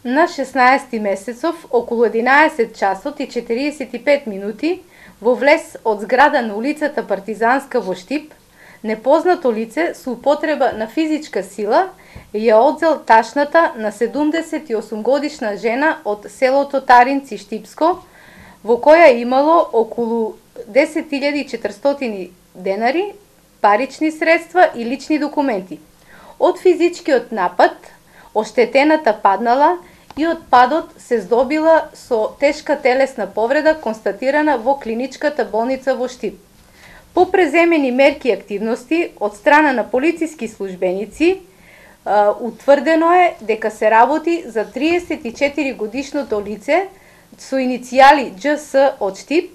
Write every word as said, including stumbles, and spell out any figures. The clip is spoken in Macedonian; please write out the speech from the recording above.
На шеснаесети месецов, околу единаесет часот и четиридесет и пет минути, во влез од зграда на улицата Партизанска во Штип, непознато лице со употреба на физичка сила ја одзел ташната на седумдесет и осум годишна жена од селото Таринци Штипско, во која имало околу десет илјади и четиристотини денари, парични средства и лични документи. Од физичкиот напад, оштетената паднала и од падот се здобила со тешка телесна повреда констатирана во клиничката болница во Штип. По преземени мерки и активности од страна на полициски службеници, утврдено е дека се работи за триесет и четири годишното лице со иницијали Џ С од Штип,